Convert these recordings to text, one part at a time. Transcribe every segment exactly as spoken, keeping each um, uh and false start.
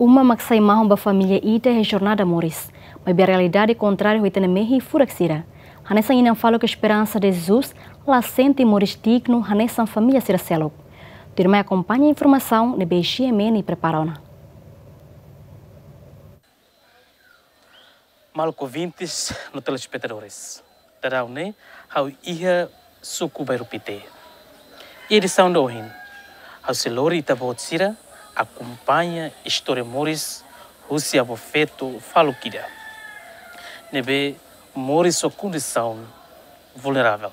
Uma mak sai mahon ba família ida iha jornada moris, maibé realidade kontráriu ho ita-nia mehi furak sira. Hanesan inan faluk Esperança de Jesus, la sente moris dignu hanesan família sira seluk. Tuirmai akompaña informasaun ne'ebé G M N prepara ona. Maluk ouvintes no telespetadores, daudaun ne'e ha'u iha suku Bairru Pité. Iha edisaun ida ohin, ha'u sei lori ita-boot sira akompaña istória moris husi avó-feto faluk ida ne'ebé moris ho kondisaun vulneravel.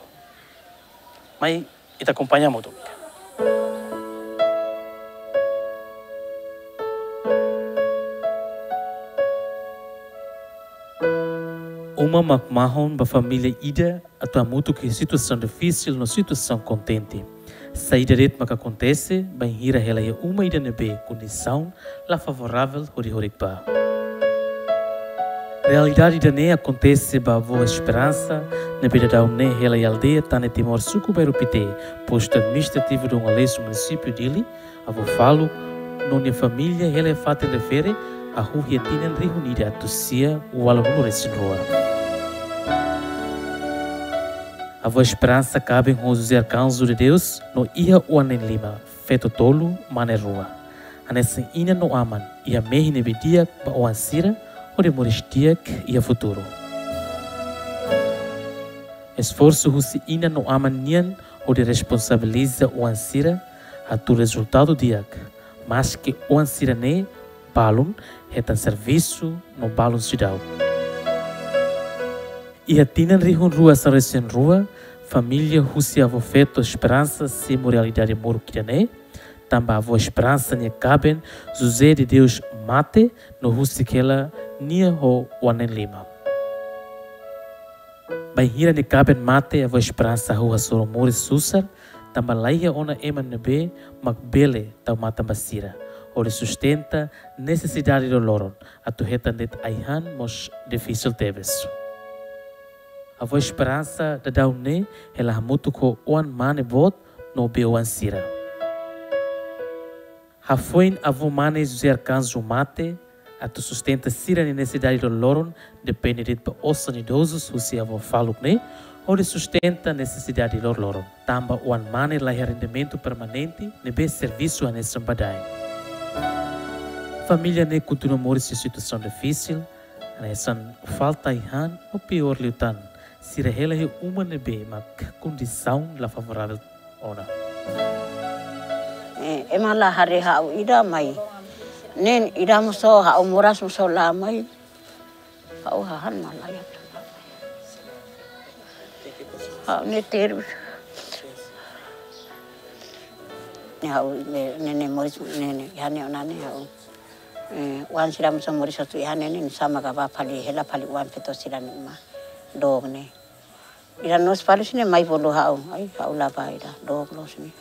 Mai ita akompaña hamutuk. Uma mak mahon ba família ida atu hamutuk iha situasaun difisil no situasaun kontente. Saida de'it mak akontese bainhira hela iha uma ida ne'ebé kondisaun la favoravel hodi horik ba. Realidade ida-ne'e akontese ba avó Esperança, ne'ebé daudaun ne'e hela iha aldeia Tane Timor, suku Bairru Pité, postu administrativu Dom Aleixo, munisípiu Dili. Avó faluk no nia família hela iha fatin refere hahú iha tinan rihun ida atus sia ualunulu resin rua. Avó Esperança kaben ho José Arcanjo de Deus no iha oan na'in lima, feto tolu, mane rua. Hanesan inan no aman, iha mehi ne'ebé di'ak ba oan sira hodi moris di'ak iha futuru. Esforsu husi inan no aman nian hodi responsabiliza oan sira hatudu rezultadu di'ak, maske oan sira-ne'e balun hetan servisu no balun seidauk. Iha tinan rihun rua sanulu resin rua, família husi avó-feto Esperança simu realidade moruk ida-ne'e, tanba avó Esperança nia kaben José de Deus mate no husik hela nia ho oan na'in lima. Bainhira nia kaben mate, avó Esperança hahú hasoru moris susar, tanba laiha ona ema ne'ebé mak bele tau matan ba sira hodi sustenta nesesidade loroloron, atu hetan de'it ai-han mós difisil tebes. Avó Esperança daudaun ne'e hela hamutuk ho oan mane boot no bei-oan sira. Hafoin avó mane José Arcanjo mate, atu sustenta sira-nia nesesidade loroloron depende de'it ba osan idozus husi avó faluk ne'e hodi sustenta nesesidade loroloron, tanba oan mane laiha rendimentu permanente ne'ebé servisu hanesan badaen. Família ne'e kontinua moris iha situasaun difisil, hanesan falta ai-han no piór liután, sira hela iha uma ne'ebé mak kondisaun la favoravel ona. Eh, ema la haree ha'u ida mai. Ne'e ida mós ha'u moras mós la mai. Ha'u hahán mak laiha. Ha'u ne'e terus. Ne'e ha'u ne'e, ne'e, ne'e moris ne'e, ne'e, iha ne'e ona ne'e ha'u. Eh, oan sira mós moris atu iha ne'e, ne'e sama ka ba fali hela fali oan feto sira-nia uma. Dook ne'e. Ida-ne'e fali sira-ne'e mai bolu ha'u. Ai, ha'u la ba ida, dook loos ne'e.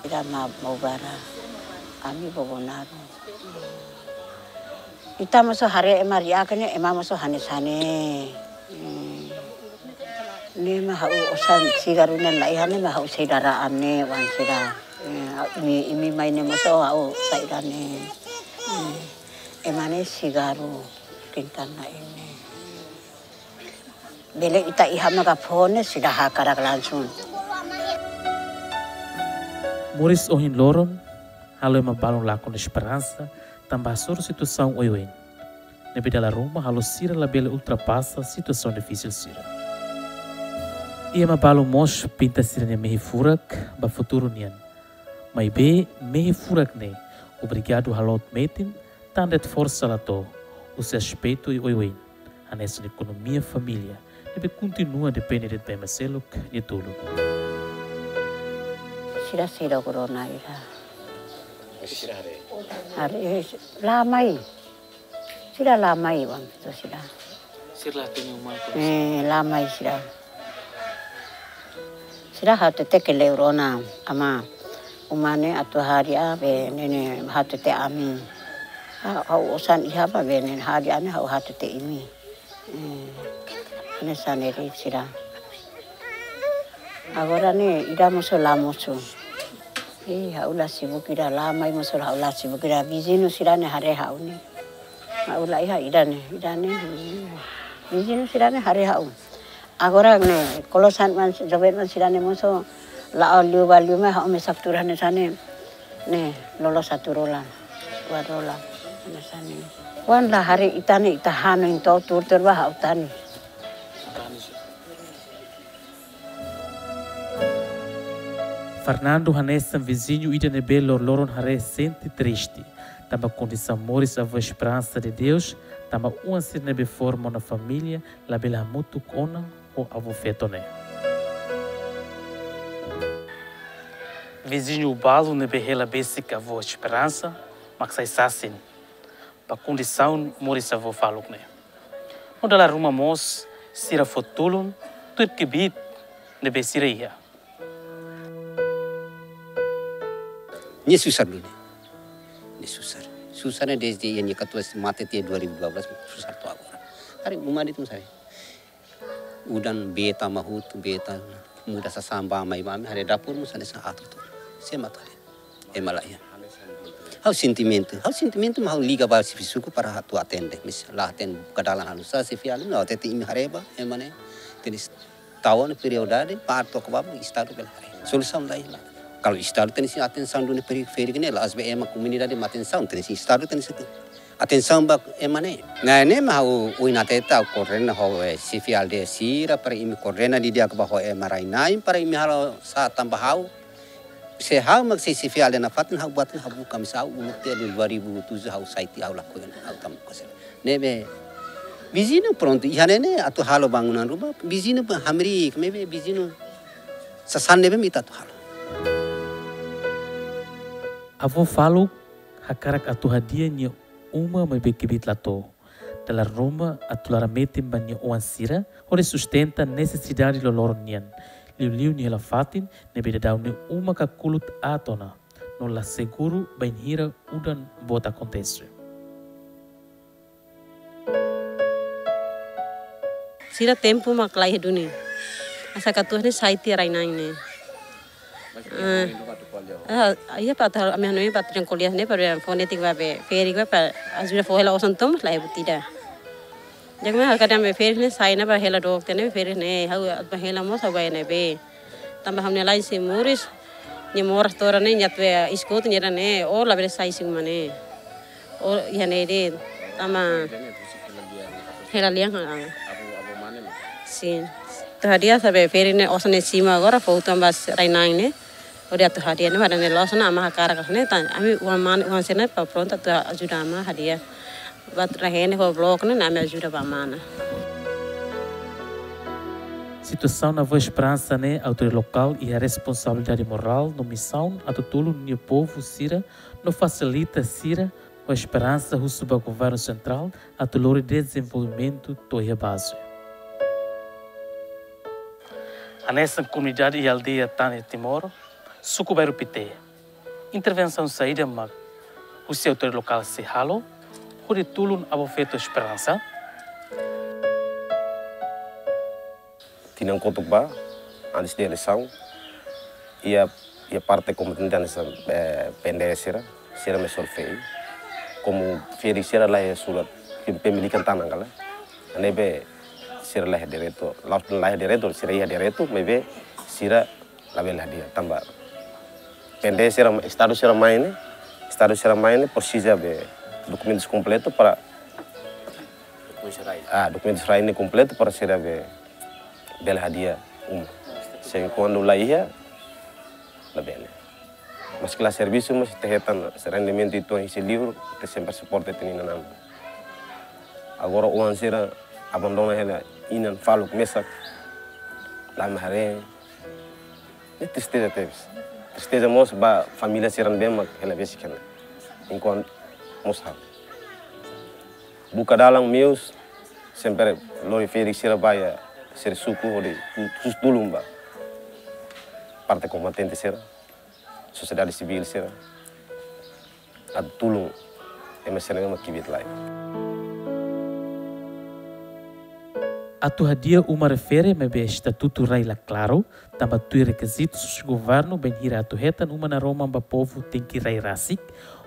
Ida mak Maubara. Ami Bobonaro. Ita mós haree ema ri'ak ne'e, ema mós hanesan ne'e. Hmm. Ne'e mak ha'u osan sigarru ne'e laiha ne'e mak ha'u sei dara ane wan sira. Eh, imi, imi mai ne'e mós ha'u saida ne'e. Hmm. Ema ne'e sigarru kintan na ini. Bele ita iha maka fó ne'e seidauk hakarak langsung. Moris ohin loron halo ema balun lakon esperansa, tanba hasoru situasaun oioin ne'ebé dala ruma halo sira labele ultrapasa situasaun difisil sira. Iha ema balun mós pinta sira-nia mehi furak ba futuru nian. Maibé mehi furak ne'e obrigadu haloot metin, tan de'it forsa la to'o, husi aspetu oioin, hanesan ekonomia família, ne'ebé kontinua depende de'it ba ema seluk nia tulun. Sira sira korona ira. Haree, la mai. Sira la mai oan feto sira. Sira la hatene uma. Eh, la mai sira. Sira hatete ke leu rona ama uma ne'e atu hadi'a be ne'e ne'e hatete ami. Ha, ha'u osan iha ba be ne'e hadi'a ne'e ha'u hatete imi. Eh, hanesan ne'e de'it sira. Agora ne'e ida mosu la mosu. Eh, ha'u la sibuk ida, la mai mosu ha'u la sibuk ida. Viziñu sira ne'e haree ha'u ne'e. Ha'u la iha ida-ne'e, ida-ne'e. Viziñu sira-ne'e haree ha'u. Agora ne'e, kolosan man, joven man sira-ne'e mosu la'o liu ba liu mai ha'u mesak tuur hanesan ne'e. Ne'e, lolo satu rola. Dua rola. Hanesan ne'e. Kuandu la haree ita-nia, ita hanoin to'o tuur-tuur ba ha'u tani. Fernando hanesan viziñu ida ne'ebé loroloron haree sente triste, tanba kondisaun moris avó Esperança de Deus, tanba oan sira ne'ebé forma ona família, labele hamutuk ona ho avó feto ne'e. Viziñu balu ne'ebé hela besik avó Esperança, mak sai sasin ba kondisaun moris avó faluk ne'e. No dala ruma mós, sira fó tulun tuir kbiit ne'ebé sira iha. Nia susar duni. Nia susar. Susar ne'e desde iha nia katuas mate tiha dua ribu dua belas, susar to'o agora. Haree uma de'it mós haree. Udan bee tama hotu, bee tama muda sasán ba mai ba ami, haree dapur mós hanesan aat hotu. Sé mak atu haree. Ema la iha. Ha'u sentimentu, ha'u sentimentu mak ha'u liga ba xefe suku para atu atende. Misa la atende buka dalan halo sá, xefe alin, no tete imi haree ba, ema ne'e tenis tau ona prioridade, parte to'o ba estadu bele haree. Solusaun la iha. Kalau estadu tenis atensaun duni peri-, ferik ne'e, la'ós be ema komunidade mak atensaun, tenis estadu tenis atensaun ba ema ne'e. Ne'e, ne'e mak ha'u ohin hatete ha'u koordena ho, eh, xefe aldeia sira para imi koordena didi'ak ba ho ema rai-na'in para imi halo sá tanba ha'u. Se ha'u mak sei xefe aldeia nafatin ha'u buat ne'e ha'u buka misa ha'u uluk tiha dua ribu tujuh ha'u sai tiha ha'u lakohi ha'u tama kosel. Ne'ebé viziñu prontu iha ne'e ne'e atu halo bangunan ruma, viziñu ba hamriik, maibé viziñu sasán ne'ebé mak ita atu halo. Avó faluk hakarak atu hadi'a nia uma maibé kbiit la to'o. Dala ruma atu laran metin ba nia oan sira, hodi sustenta nesesidade loroloron nian. Liuliu nia hela fatin, ne'ebé daudaun nia uma kakulut aat ona. No la seguru bainhira udan boot akontese. Sira tempu mak la iha duni. Asa katuas ne'e sai tiha rai-na'in ne'e. Ah, ah, iha para atu, ami hanoin para atu jangkolias ne'e, para fonetik ba be, ferik ba, para ajuda fó hela osan to'o mós la iha buat ida. Jadi mak ha'u kadang be ferik ne'e sai ona ba hela dokter ne'e, ferik ne'e, ha'u atu ba hela mós ha'u ba ne'ebé. Tanba ha'u-nia la'en sei moris, nia moras to'o ne'e, nia atu be iskut nia ne'e, o labele sai sei uma ne'e. O iha ne'e de'it, tanba hela lian, ha. Sin. Atu hadi'a saida be ferik ne'e osan ne'e simu agora, fó utan ba rai-na'in ne'e. Hodi atu hadi'a ne'e, ba ne'e loos ona, ama hakarak ne'e, tan, ami oan mane, oan sira ne'e, para prontu atu ajuda ama hadi'a. Ba rai-na'in ne'e fó blok ne'e, ami ajuda ba mana. Situasaun avó Esperança ne'e, autoridade lokál iha responsabilidade morál no misaun atu tulun nia povu sira no fasilita sira ho esperansa husu ba governu sentrál atu lori dezenvolvimentu to'o iha baze. Hanesan komunidade iha aldeia Tane Timor, suku Bairru Pité. Intervensaun saida mak husi autoridade lokál sei halo hodi tulun avó feto Esperança? Tinan kotuk ba, antes de eleisaun, iha, iha parte kompetente hanesan, eh, P N D S sira, sira mai solve. Komu ferik sira la iha surat, pem-, pemilikan tanah kala. Ne'ebé sira la iha direitu, la'ós la iha direitu, sira iha direitu, maibé sira labele hadi'a tanba P N D S sira, estadu sira mai ne'e, estadu sira mai ne'e presiza be dokumentus kompletu para dokumentus rai. Ah, dokumentus rai ne'e kompletu para sira be bele hadi'a uma. Se kuandu la iha, labele. Maske la servisu, mas ita hetan rendimentu ita-nia husi livru, ita sempre suporta ita-nia inan-aman. Agora oan sira abandona hela inan faluk mesak, la mai haree. Ne'e tristeza tebes. Tristeza mós ba família sira ne'ebé mak hela besik iha ne'e. Enkuantu mós ha'u buka dalan meius, sempre lori ferik sira ba iha sira suku hodi tu-, tu-, tulun ba parte kombatente sira, sosiedade sivíl sira, atu tulun ema sira ne'ebé mak kbiit-laek. Atu hadi'a uma refere maibé estatutu rai la klaru, tanba tuir rekizitus governu bainhira atu hetan uma naroman ba povu tenke rai rasik,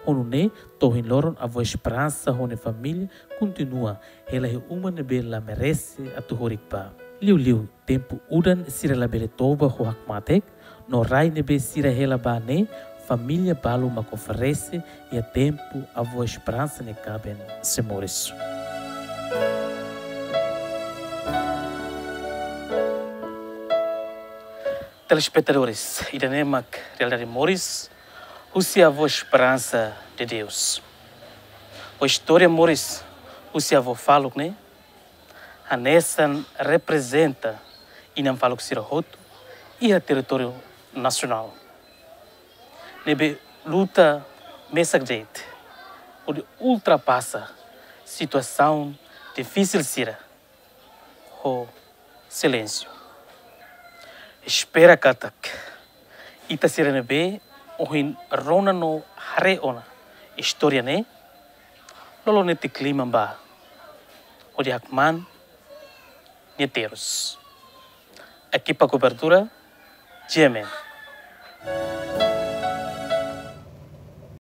Ho nune'e, to'o ohin loron avó Esperansa ho nia família kontinua hela iha uma ne'ebé la merese atu horik ba. Liuliu tempu udan sira labele toba ho hakmatek, no rai ne'ebé sira hela ba ne'e, família balu mak oferese iha tempu avó Esperansa nia kaben sei moris. Telespetadores, ida-ne'e mak realidade moris husi avó Esperansa de Deus. Ho istória moris husi avó faluk ne'e, hanesan reprezenta inan faluk sira hotu iha territóriu nasionál, ne'ebé luta mesak de'it hodi ultrapasa situasaun difisil sira ho silénsiu. Espera katak ita sira ne'ebé ohin rona no haree ona istória ne'e, loloos netik liman ba hodi hakmaan nia terus. Ekipa kobertura, G M N.